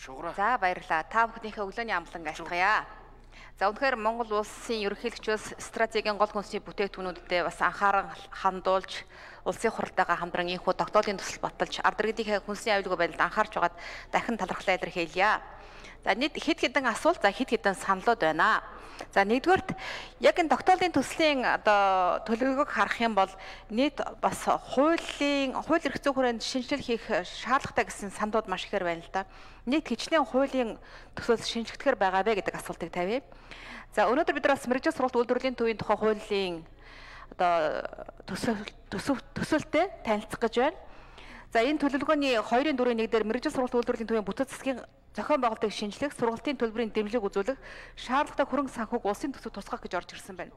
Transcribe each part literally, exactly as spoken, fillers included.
За баярлалаа. Та бүхнийхээ өглөөний амглан айлтгая. За үнэхээр Монгол улсын ерөнхийлөгчөөс стратегийн гол хүнсний бүтээгдэхүүнүүдэд бас анхаарал хандуулж улсын хурлтайгаа хамтран инхүү тогтоолын төсөл баталж ард иргэдийнхээ хүнсний аюулгүй байдалд анхаарч байгаад дахин талархлаа илэрхийлье. За нийт хэд хэдэн асуулт, за хэд хэдэн саналуд байна. За нэгдүгээрт яг энэ тогтоолын төслийн одоо төлөвлөгөөг харах юм бол нийт бас хуулийн хууль эрх зүйн хүрээнд шинжилэл хийх шаардлагатай гэсэн саналуд маш ихээр байна л да. Нийт хичнээн хуулийн төсөл шинжигдэхээр байгаа вэ гэдэг асуултыг тавья. За өнөөдөр бид нар бас мэргэжил сургалт үйлдвэрлэлийн төвийн тухай хуулийн одоо төсөв төсөв төсөлтэй танилцах гэж байна. За энэ төлөвлөгөөний хоёрын дөрвийн нэг дээр мэргэжил сургалт үйлдвэрлэлийн төвийн бүтэц засгийн зохион байгуулалтыг шинжлэх, сургалтын төлбөрийн дэмжлэг үзүүлэх, шаардлагатай хөрөнгө санхүүг улсын төсөвт тусгах гэж орж ирсэн байна.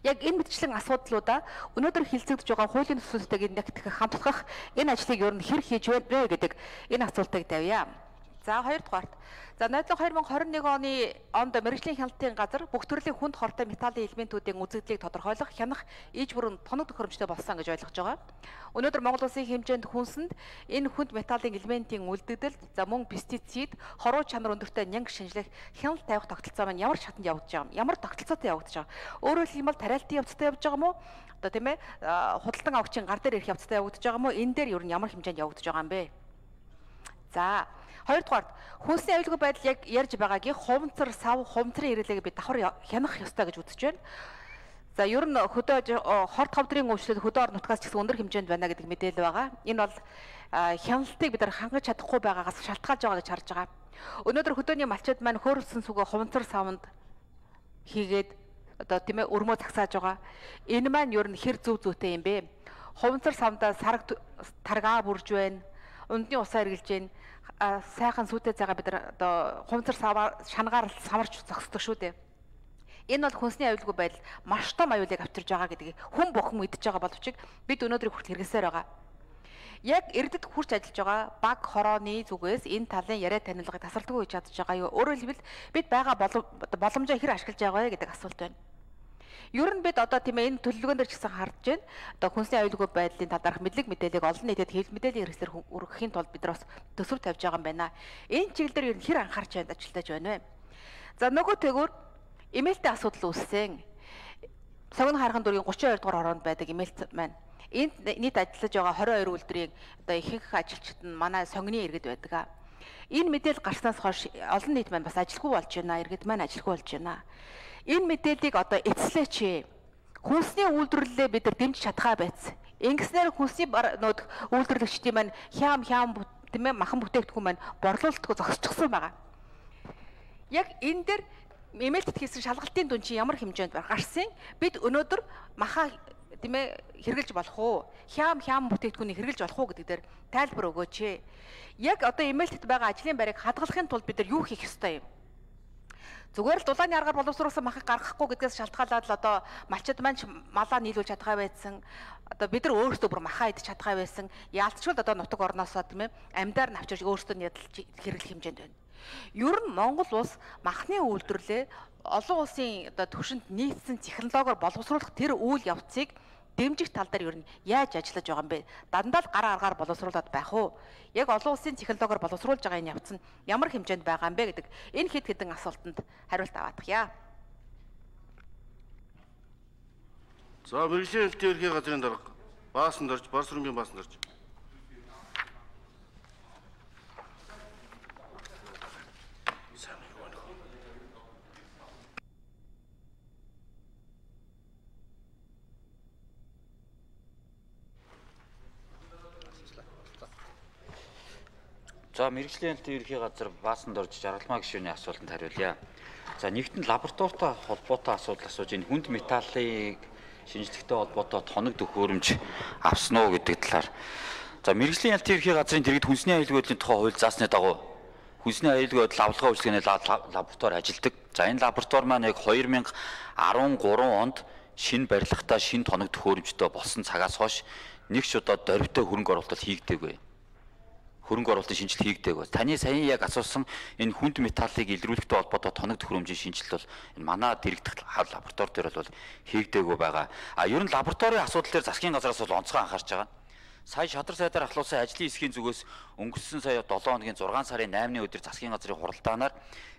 Яг энэ мэтчлэн асуудлуудаа өнөөдөр хилцэгдэж байгаа хуулийн төсөлтэйг нэгтгэх хамтдах энэ ажлыг ер нь хэр хийж байна гэдэг энэ асуултыг тавья. За хоёрдугаарт за найдлага хоёр мянга хорин нэг оны онд мэргэжлийн хяналтын газар бүх төрлийн хүнд хортой металлын элементүүдийн үзэгдлийг тодорхойлох, хянах, иж бүрэн тоног төхөөрөмжтэй болсон гэж ойлгож байгаа. Өнөөдөр Монгол улсын хэмжээнд хүнсэнд энэ хүнд металлын элементийн үлдэгдэл, за мөн пестицид, хоруу чанар өндөртэй нянг шинжлэх, хяналт тавих тогтолцоо маань ямар шатанд явагдаж байгаа юм? Ямар тогтолцоотой явагдаж байгаа? Өөрөөр хэлбэл тариалтын явцтай явж байгаа мó? Одоо тийм ээ худалдан авагчийн гар дээр ирэх явцтай явагдаж байгаа мó? Энэ дээр ер нь ямар хэмжээнд явагдаж байгаа юм бэ? За хоёрдугаар хүнсний аюулгүй байдал яг ярьж байгаагийн хуванцар, сав, хуванцрын ирэлээг би давхар хянах ёстой гэж үзэж байна. За ер нь хөдөө хорт хавдрын үйлчлэл хөдөө орон нутгаас ч гэсэн өндөр хэмжээнд байна гэдэг мэдээлэл байгаа. Энэ бол хяналтыг бид нар хангаж чадахгүй байгаагаас шалтгаалж байгаа гэж харж байгаа. Өнөөдөр хөдөөний малчид маань хөөрөлсөн сүгөө хуванцар савнд хийгээд одоо тийм ээ өрмөө цагсааж байгаа. Энэ маань ер нь хэр зөв зүйтэй юм бэ? Хуванцар савндаа сараг таргаа бүрж байна. Ундны усаа эргэлж байна. Сайхан сүтээ цагаа бид нар одоо хуванцар саваар шангаар самарч зогсдог шүү дээ. Энэ бол хүнсний аюулгүй байдал маш том аюулыг авчирж байгаа гэдгийг хүн бүхэн мэдж байгаа боловч бид өнөөдөр хүртэл хэрэгсээр байгаа. Яг эрдэд хурц ажиллаж байгаа баг хорооны зүгээс энэ талын яриа танилгыг тасралтгүй хийж чадж байгаа юу? Өөрөөр хэлбэл бид байгаа боломжоо хэр ашиглаж байгаа вэ гэдэг асуулт байна. Ер нь бид одоо тийм ээ энэ төлөвлөгөөн дээр ч гэсэн харж байна. Одоо хүнсний аюулгүй байдлын талаарх мэдлэг мэдээллийг олон нийтэд хэвлэл мэдээллийн хэрэгслэр өргөхийн тулд бид нар бас төсөв тавьж байгаа юм байна. Энэ чиглэлээр ер нь хэр анхаарч байна ажилтаж байна вэ? За нөгөө тэгүр эмээлтэй асуудал үүссэн. Согн хархан дүүргийн гучин хоёр дугаар хороонд байдаг эмээлт маань. Энд нийт ажиллаж байгаа хорин хоёр үйлдвэрийн одоо ихэнх ажилчид нь манай сонгоны иргэд байдаг. Энэ мэдээлэл гарснаас хойш олон нийт маань бас ажилгүй болж байна. Иргэд маань ажилгүй болж байна. Энэ мэдээллийг одоо эцлээч. Хүнсний үйлдвэрлэлээ бид нар дэмжиж чадхаа байц. Ингэснээр хүнсний нүүд үйлдвэрлэгчдийн маань хям хям тийм ээ махан бүтээгдэхүүн маань борлуулалтгүй зогсчихсон байгаа. Яг энэ дээр эмээлтэд хийсэн шалгалтын дүн чинь ямар хэмжээнд гарсан? Бид өнөөдөр маха тийм ээ хэрглэж болох уу? Хям хям бүтээгдэхүүнийг хэрглэж болох уу гэдэг дээр тайлбар өгөөч. Яг одоо эмээлтэд байгаа ажлын байрыг хадгалахын тулд бид нар юу хийх ёстой юм? Зүгээр л дулааны аргаар боловсруулсан махыг гаргахгүй гэдгээс шалтгаалаад л одоо малчид маань малаа нийлүүлж чадгаа байсан. Одоо бид нар өөрсдөө бүр махаа идэж чадгаа байсан. Яалтчгүй одоо нутаг орноосоо тийм ээ амьдаар навчирч өөрсдөө ядалж хэрэглэх хэмжээнд байна. Ер нь Монгол улс махны үйлдвэрлэлээ олон улсын одоо түвшинд нийцсэн технологиор боловсруулах тэр үйл явцыг дэмжих тал дээр ер нь яаж ажиллаж байгаа юм бэ? Дандаа л гар аргаар боловсруулад байх уу? Яг олон улсын технологиор боловсруулж байгаа энэ явц нь ямар хэмжээнд байгаа юм бэ гэдэг энэ хэд хэдэн асуултанд хариулт аваадахъя. За мэргэжлийн хэлтийн ерхий газрын дарга баасан дорж, бар сүрэнгийн баасан дорж. За мэргэжлийн хэлтийн ерхий газар баасан дорж жаргалмаа гишүүний асуултанд хариулъя. За нэгтэн лабораторитой холбоотой асуудал асууж энэ хүнд металлыг шинжлэхтэй холбоотой тоног төхөөрөмж авсан уу гэдэг талаар. За мэргэжлийн хэлтийн ерхий газрын дэргэд хүнсний аюулгүй байдлын тухай хууль заасны дагуу хүнсний аюулгүй байдал авлагын үйлчилгээний лаборатори ажилладаг. За энэ лаборатори маань яг хоёр мянга арван гурван онд шинэ барилгатай шинэ тоног төхөөрөмжтэй болсон цагаас хойш нэг ч удаа дорвитой хөрөнгө оруулалт хийгдээгүй. Хөрөнгө оруулалтын шинжилт хийгдээгүй. Таны саяхан яг асуусан энэ хүнд металлыг илрүүлэхтэй холбоотой тоног төхөөрөмжийн шинжилт бол энэ манай дэрэгдэх лаборатори дээр бол хийгдээгүй байгаа. А ер нь лабораторийн асуудал дээр засгийн газраас бол онцгой анхаарч байгаа. Сая шадар сайдаар ахлуулсан ажлын хэсгийн зүгээс өнгөрсөн сая долоо хоногийн зургаан сарын наймны өдөр засгийн газрын хуралдаанаар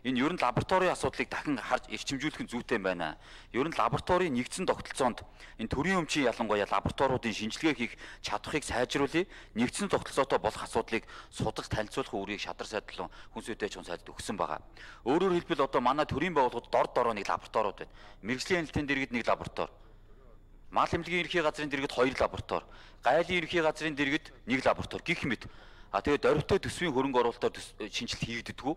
энэ ер нь лабораторийн асуудлыг дахин харж эрчимжүүлэх нь зүйтэй байна. Ер нь лабораторийн нэгдсэн тогтолцоонд энэ төрийн өмчийн ялангуяа лабораториудын шинжилгээ хийх чадварыг сайжруулъя. Нэгдсэн тогтолцоотой болох асуудлыг судалж танилцуулах үүргийг шадар сайд болон хүнс үдээч хүн сайдд өгсөн байгаа. Өөрөөр хэлбэл одоо манай төрийн байгууллагууд дор дороо нэг лабораториуд байна. Мэргэжлийн хяналтын дэргэд нэг лаборатори. Мал эмнэлгийн ерхий газрын дэргэд хоёр лаборатори, гайлын ерхий газрын дэргэд нэг лаборатори гэх мэт. А тэгээд дөрвтэй төсвийн хөрөнгө оруулалтаар шинжилт хийгддэггүй.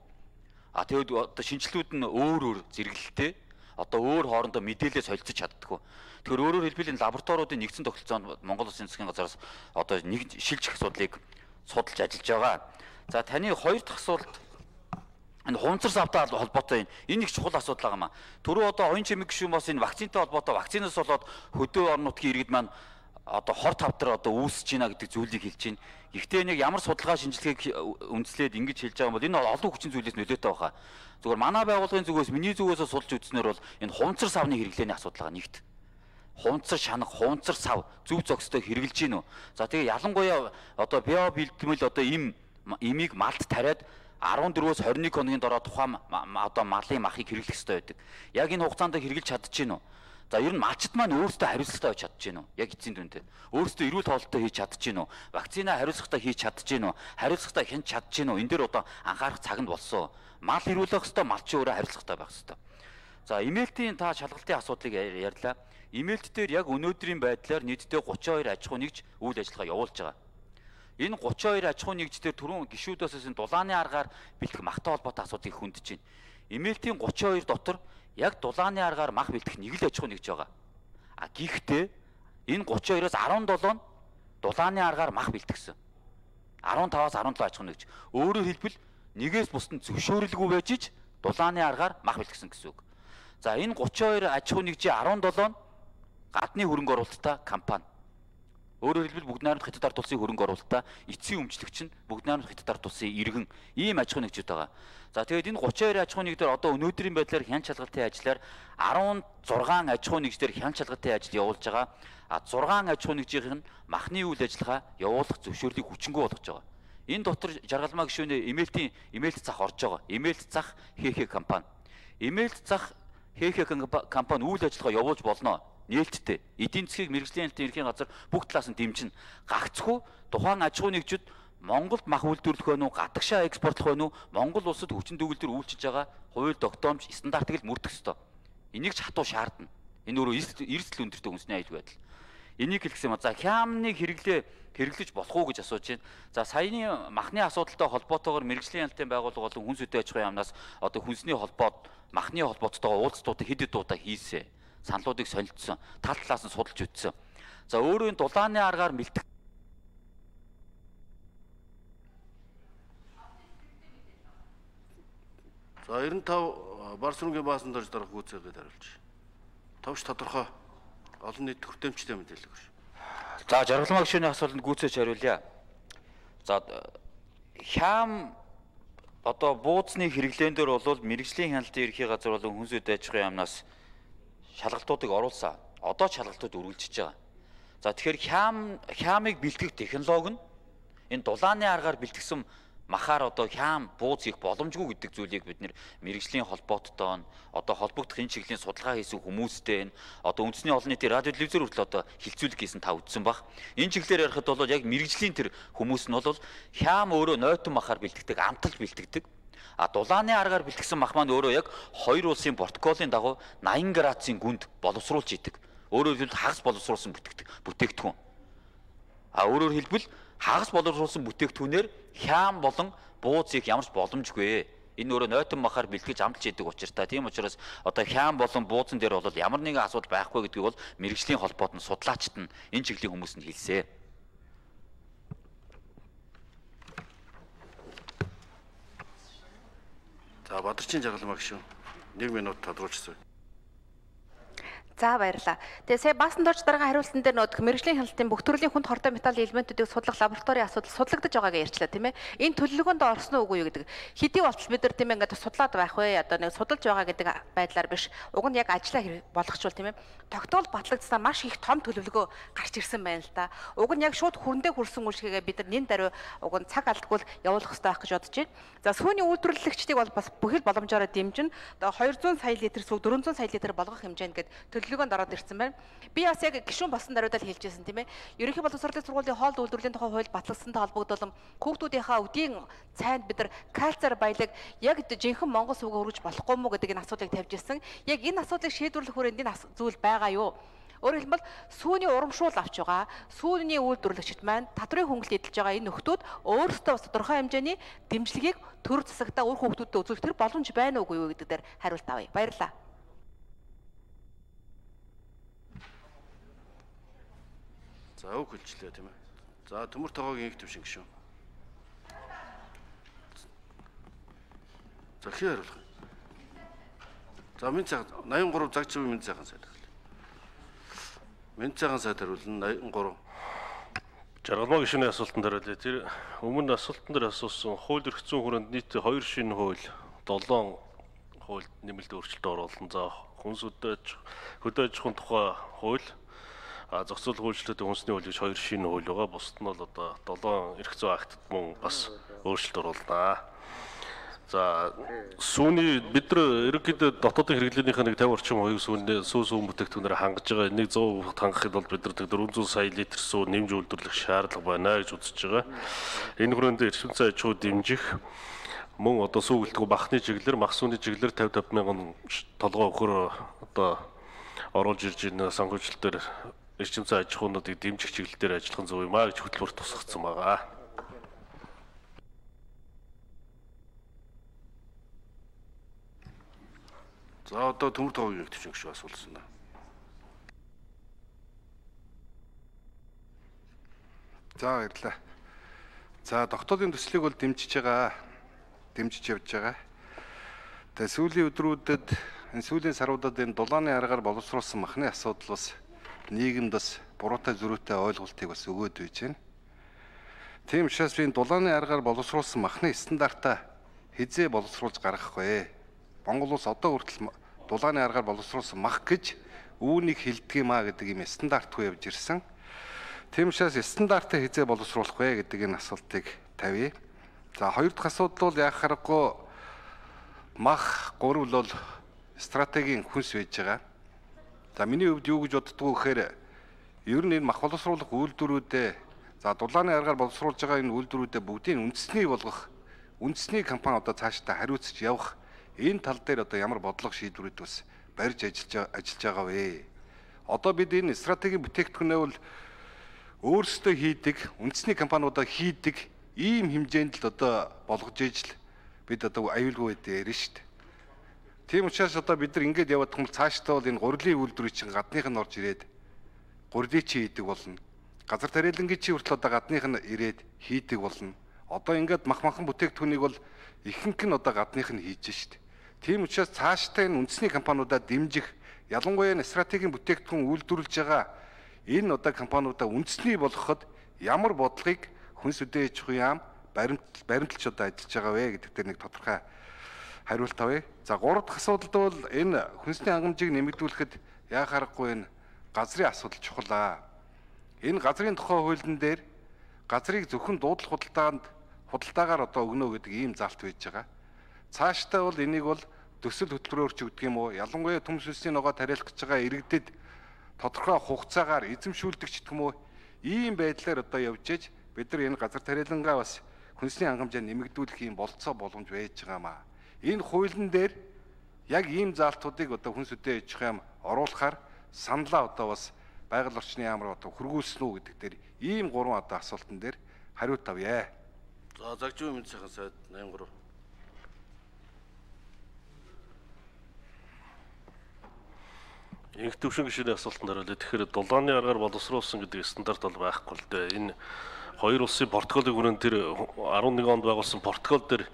А тэгээд одоо шинжилтүүд нь өөр өөр зэрэглэлтэй. Одоо өөр хоорондоо мэдээлэл солилцож чаддаггүй. Тэгэхээр өөрөөр хэлбэл энэ лабораториудын нэгдсэн тогтолцоонд Монгол Улсын засгийн газраас одоо нэг шилжих асуудлыг судалж ажиллаж байгаа. За таны хоёр дахь асуулт энэ хунцар савтай холбоотой энэ их чухал асуудал байгаа маа. Түрүү одоо оюун чимэг гишүүн бас энэ вакцинтай холбоотой вакцинаас болоод хөдөө орон нутгийн иргэд маань одоо хор тавдар одоо үүсэж байна гэдэг зүйлийг хэлж байна. Гэхдээ нэг ямар судалгаа шинжилгээг үндэслээд ингэж хэлж байгаа юм бол энэ олон хүчин зүйлээс нөлөөтэй байгаа. Зүгээр манай байгууллагын зүгээс миний зүгээс судалж үзснээр бол энэ хунцар савны хэрэглээний асуудал байгаа нэгт. Хунцар шанах, хунцар сав зөв зохистой хэрэгжилж гин үү. За тэгээ ялангуяа одоо био бэлтгэл одоо им имийг малд тариад арван дөрвөөс хорин нэг хоногийн дараа тухайн одоо малын махыг хэрэглэх хэрэгтэй байдаг. Яг энэ хугацаанд хэрэгжилж чадчихэв үү? За ер нь малчд маань өөрсдөө хариуцлагатай байж чадчихэв үү? Яг эцсийн дүндээ. Өөрсдөө эрүүл хоолтой хийж чадчихэв үү? Вакцина хариуцлагатай хийж чадчихэв үү? Хариуцлагатай хянж чадчихэв үү? Энд дээр одоо анхаарах цаг нь болсон. Мал эрүүлэх хэрэгтэй, малчин өөрөө хариуцлагатай байх хэрэгтэй. За имээлтийн та шалгалтын асуудлыг ярьлаа. Имээлт дээр яг өнөөдрийн байдлаар нийтдээ гучин хоёр аж ахуй нэгж үйл ажиллагаа явуулж байгаа. Энэ гучин хоёр аж ахуй нэгжээр түрүүн гишүүдээс энэ дулааны аргаар бэлтгэх махтай холбоотой асуудлыг хүндэж байна. Имээлтийн гучин хоёр дотор яг дулааны аргаар мах бэлтгэх нэг л аж ахуй нэгж байгаа. А гэхдээ энэ гучин хоёроос арван долоо нь дулааны аргаар мах бэлтгэсэн. арван таваас арван долоо аж ахуй нэгж. Өөрөөр хэлбэл нэгээс бусдын зөвшөөрөлгүй байж ич дулааны аргаар мах бэлтгэсэн гэсэн үг. За энэ гучин хоёр аж ахуй нэгжийн арван долоо нь гадны хөрөнгө оруулалттай компани. Өөрөөр хэлбэл бүгд найрамд хятад ард улсын хөрөнгө оруулалтаа эцсийн өмчлөгч нь бүгд найрамд хятад ард улсын иргэн ийм аж ахуй нэгжүүд байгаа. За тэгээд энэ гучин хоёр аж ахуй нэгдээр одоо өнөөдрийн байдлаар хян чалгалтын ажлаар арван зургаан аж ахуй нэгжээр хян чалгалтын ажил явуулж байгаа. А зургаан аж ахуй нэгжийн нь махны үйл ажиллагаа явуулах зөвшөөрлийг хүчингү болгож байгаа. Энэ дотор жаргалмаа гишүүнээ имээлтийн имээлт зах орж байгаа. Имээлт зах ХХ компани. Имээлт зах ХХ компани үйл ажиллагаа явуулж болно. Нээлттэй эдийн засгийг мэргэжлийн хяналтын ерхийн газар бүх талаас нь дэмжин гагцгүй тухайн аж ахуй нэгжид Монголд мах үйлдвэрлэх байв уу, гадагшаа экспортлох байв уу, Монгол улсад хүчин төгөлдөр үйлчилж байгаа хууль тогтоомж стандартыг л мөрдөх ёстой. Энийг ч хатуу шаардна. Энэ өөрөө эрсдэл өндөртэй хүнсний аюул байдал. Энийг хэлсэн юм. За хямныг хэрэглээ хэрэглэж болох уу гэж асууж байна. За саяны махны асуудалтай холбоотойгоор мэргэжлийн хяналтын байгууллага болон хүнс үдээ аж ахуйн яамнаас одоо хүнсний холбоод махны холбооттойгоо уулзалтуудыг хэд хэд удаа хийсэн. Саналуудыг солилцсон, тал талаас нь судалж үзсэн. За өөрөө энэ дулааны аргаар мэлтэх За девяносто пять бар сүрэнгийн баасан дорж дарах гүйцээгээд хариулж. Товч тодорхой олон нийт хүртээмжтэй мэдээлэл өгш. За жаргалмаа гишүүний асуултанд гүйцээж хариулъя. За хям одоо бууцны хэрэглэн дээр бол мэргэжлийн хяналтын ерхий газар болон хүнс үдээ аж ахуйн яамнаас шалгалтуудыг оруулсан. Одоо шалгалтууд үргэлжиж байгаа. За тэгэхээр хям хямыг бэлтгэх технологи нь энэ дулааны аргаар бэлтгэсэн махаар одоо хям бууз хийх боломжгүй гэдэг зүйлийг бид нэр мэргэжлийн холбооттой одоо холбогдох энэ чиглэлийн судалгаа хийсэн хүмүүстэй одоо үндэсний олон нийтийн радио телевизээр хүртэл одоо хилцүүлэг хийсэн та үзсэн баг. Энэ чиглэлээр ярихад бол яг мэргэжлийн тэр хүмүүс нь бол хям өөрөө нойтон махаар бэлтгэдэг, амталж бэлтгэдэг. А дулааны аргаар бэлтгэсэн мах маань өөрөө яг хоёр улсын протоколын дагуу найман градусын гүнд боловсруулж идэг. Өөрөөр хэлбэл хагас боловсруулсан бүтээгдэхүүн. А өөрөөр хэлбэл хагас боловсруулсан бүтээгдэхүүнээр хям болон бууз хийх ямар ч боломжгүй. Энэ өөрөө нойтон махаар бэлтгэж амталж идэг учиртай. Тийм учраас одоо хям болон буузан дээр бол ямар нэгэн асуудал байхгүй гэдгийг бол мэргэжлийн холбоот нь судлаачд нь энэ чиглэлийн хүмүүс нь хэлсэн. За Бадарчин жаргалмаа гишүүн нэг минут тодруулчихсан. За баярлалаа. Тэгээ сая баасан дорж дараагийн хариултан дээр нөт мэрэгжлийн хяналтын бүх төрлийн хүнд хортой металл элементүүдийг судлах лабораторийн асуудал судлагдаж байгаагаа ярьчлаа тийм ээ. Энэ төлөвлөгөөнд орсон уу үгүй юу гэдэг. Хэдий болтол бид нар тийм ээ ингээд судлаад байх вэ? Одоо нэг судалж байгаа гэдэг байдлаар биш. Уг нь яг ажиллаа болгочвол тийм ээ. Тогтоол батлагдсанаар маш их том төлөвлөгөө гарч ирсэн байна л да. Уг нь яг шууд хүрэндээ хүрсэн үйлчлэгээ бид нар нэн даруй уг нь цаг алдгүй явуулах хэрэгтэй байх гэж бодож байна. За сүүний үйлдвэрлэгчдийг бол бас бүхэл боломжоор дэмжин одоо хоёр зуун сая литр сүү дөрвөн зуун сая литр болгох хэмжээнд гээд төлөвлөгөөнд ороод ирсэн байна. Би бас яг гишүүн болсон даруйдаа хэлж байсан тийм ээ. Ерөнхий боловсролын сургуулийн хоол үйлдвэрлэлийн тухай хууль батлагдсантай холбогдуулан хүүхдүүдийнхээ өвдийн цайнд бид нар кальцаар баялаг яг жинхэнэ монгол сүгэ өргөж болохгүй мүү гэдэг энэ асуудлыг тавьж ирсэн. Яг энэ асуудлыг шийдвэрлэх хүрээнд энэ зүйл байгаа юу? Өөрөөр хэлбэл сүүний урамшуул авч байгаа сүүний үйлдвэрлэгчид маань татврын хөнгөлөлт эдэлж байгаа энэ нөхдүүд өөрсдөө бас тодорхой хэмжээний дэмжлэгийг төр засагтаа үр хүүхдүүдэд үзүүлэх тэр боломж байна уугүй юу гэдэг дээр хариулт авъя. Баярлалаа. За үг хэлжлээ тийм ээ. За төмөр тогоогийн их төвшин гişүн. За хий хариулах. За минь цаг восемьдесят три загчив минь цагаан сайд. Минь цагаан сайд хариулна восемьдесят три. Жаргалмаа гишүүний асуултанд хариулъя. Тэр өмнө асуултан дээр асуусан хууль эрх зүйн хүрээнд нийт хоёр шинэ хууль, долоон хууль нэмэлт өөрчлөлт оруулсан. За хүнс хөдөөж хөдөөж ахуйн тухай хууль, а зохицуулах үйлчлэлтэй хүнсний хууль гэж хоёр шинэ хууль байгаа. Бусд нь бол одоо долоон эрх зүйн актад мөн бас өөрчлөлт оруулнаа. За сүүний бид нар ерөнхийдөө дотоодын хэрэглээнийхээ нэг тавин орчим хоёрын сүүний сүү сүүн бүтээгдэхүүнээр хангаж байгаа. Энийг сто процент хангахад бол бид нар дөрвөн зуун сая литр сүү нэмж үйлдвэрлэх шаардлага байна гэж үзэж байгаа. Энэ хүрээнд эрчим цай аж ахуй дэмжих мөн одоо сүү гэлтгүү махны чиглэлээр мах сүүний чиглэлээр пятьдесят мянган толгой өхөр одоо оруулж ирж байна. Санхүүжилтээр эрчим цай аж ахуйнуудыг дэмжих чиглэлээр ажиллах зөв юм а гэж хөтөлбөр тусгацсан байгаа. За одоо төмөр тогоогийн төвшин гişүү асуулсан. За баярлалаа. За тогтоолын төслийг бол дэмжиж байгаа. Дэмжиж явж байгаа. Тэгээ сүүлийн өдрүүдэд энэ сүүлийн саруудад энэ дулааны аргаар боловсруулсан махны асуудал бас нийгэмд бас буруутай зөрүүтэй ойлголтыг бас өгөөд байж байна. Тийм учраас би энэ дулааны аргаар боловсруулсан махны стандартаа хизээ боловсруулж гаргах вэ? Монгол улс одоо хүртэл дулааны аргаар боловсруулсан мах гэж үүнийг хэлдэг юм а гэдэг юм стандартгүй явж ирсэн. Тийм учраас стандартаа хизээ боловсруулах вэ гэдэг энэ асуултыг тавья. За хоёр дахь асуудал бол яах харахгүй мах гурвал бол стратегийн хүнс байж байгаа. За миний хувьд юу гэж боддгоо гэхээр ер нь энэ мах боловсруулах үйлдвэрүүдээ за дулааны аргаар боловсруулж байгаа энэ үйлдвэрүүдээ бүгдийг үндэсний болгох үндэсний компаниудаа цаашдаа хариуцж явах энэ тал дээр одоо ямар бодлого шийдвэрүүд бас барьж ажиллаж ажиллаж байгаа вэ? Одоо бид энэ стратегийн бүтээгдэхүүнээ бол өөрсдөө хийдэг, үндэсний компаниудаа хийдэг ийм хэмжээнд л одоо болгож ижил бид одоо аюулгүй дээр шүү дээ. Тийм учраас одоо бид нар ингэж яваад том цаашдаа бол энэ гурилын үйлдвэрийн чинь гадных нь орж ирээд гурилыг чи хийдэг болно. Газар тариалангийн чи хүртэл одоо гадных нь ирээд хийдэг болно. Одоо ингээд мах махан бүтээгдэхүүнийг бол ихэнх нь одоо гадных нь хийж штт. Тийм учраас цаашдаа энэ үндэсний компаниудаа дэмжих, ялангуяа энэ стратегийн бүтээгдэхүүн үйлдвэрлэж байгаа энэ одоо компаниудаа үндэсний болгоход ямар бодлогыг хүнс үдээ аж ахуйн яам баримт баримталж одоо ажиллаж байгаа вэ гэдэг дээр нэг тодорхой хариулт авъя. За гурав дахь асуудалд бол энэ хүнсний хангамжийг нэмэгдүүлэхэд яа харахгүй энэ газрын асуудал чухал аа. Энэ газрын тухай хуулийн дээр газрыг зөвхөн дуудлах худалдаанд худалдаагаар одоо өгнө гэдэг ийм залт байж байгаа. Цаашдаа бол энийг бол төсөл хөтөлбөрөөр ч өгдөг юм уу? Ялангуяа төмс үлсийн ногоо тариалах гэж байгаа иргэдэд тодорхой хугацаагаар эзэмшүүлдэг ч гэх юм уу? Ийм байдлаар одоо явж иж бид нар энэ газар тариалангаа бас хүнсний хангамжаа нэмэгдүүлэх юм болцоо боломж байж байгаамаа. Энэ хуулийн дээр яг ийм заалтуудыг одоо хүнс үдээ аж ахуйн яам оруулахаар саналаа одоо бас байгаль орчны яамаар одоо хургуулсан уу гэдэг дээр ийм гурван одоо асуултан дээр хариулт авъя. За загжуу мэд сайхан сайд восемьдесят три. Инх төвшин гишүүний асуултанд хариулъя. Тэгэхээр дулааны аргаар боловсруулсан гэдэг стандарт бол байхгүй л дээ. Энэ хоёр улсын протоколын хүрээнд тэр арван нэг онд байгуулсан протокол дээр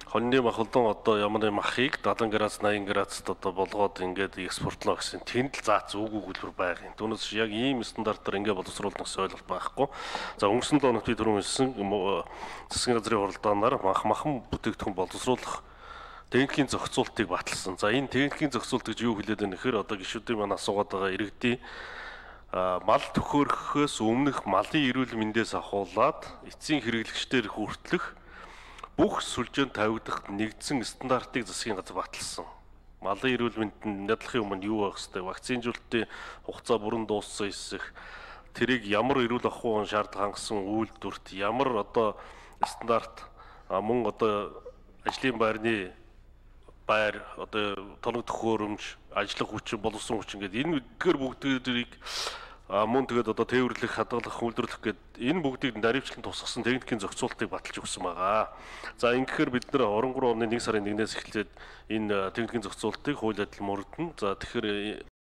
Хоньны махалдан одоо ямар нэг махыг седьмидесяти градус восемьдесят градуст одоо болгоод ингээд экспортлоо гэсэн тэнд л заац үгүй хэлбэр байгаа юм. Түүнээс яг ийм стандартаар ингээд боловсруулах гэсэн ойлголт байхгүй. За өнгөрсөн доног би түрүүн хэлсэн засгийн газрын хуралдаанаар мах махан бүтээгдэхүүн боловсруулах техникийн зохицуултыг баталсан. За энэ техникийн зохицуулт гэж юу хэлээд байна гэхээр одоо гишүүдийн маань асуугаад байгаа иргэдийн мал төхөөрөхөөс өмнөх малын эрүүл мэндээс ахуулаад эцсийн хэрэглэгчдээр хүртэлх бүх сүлжээнд тавигдах нэгдсэн стандартыг засгийн газар баталсан. Малын эрүүл мэндэнд нядлахын өмнө юу байх вэ? Вакцинжуулалтын хугацаа бүрэн дууссан эсэх, тэрийг ямар эрүүл ахуйн шаардлага хангасан үйлдвэрт ямар одоо стандарт мөн одоо ажлын байрны байр одоо тоног төхөөрөмж, ажиллах хүчин, боловсон хүчин гэдэг энэ эдгээр бүгдийг мөн тэгээд одоо тээвэрлэх, хадгалах, үйлдвэрлэх гэдэг энэ бүгдийг наривчлан тусгасан техникийн зохицуултыг баталж өгсөн байгаа. За ингэхээр бид нэр двадцать три оны нэг сарын нэгнээс эхлээд энэ техникийн зохицуултыг хууль адил мөрдөн. За тэгэхээр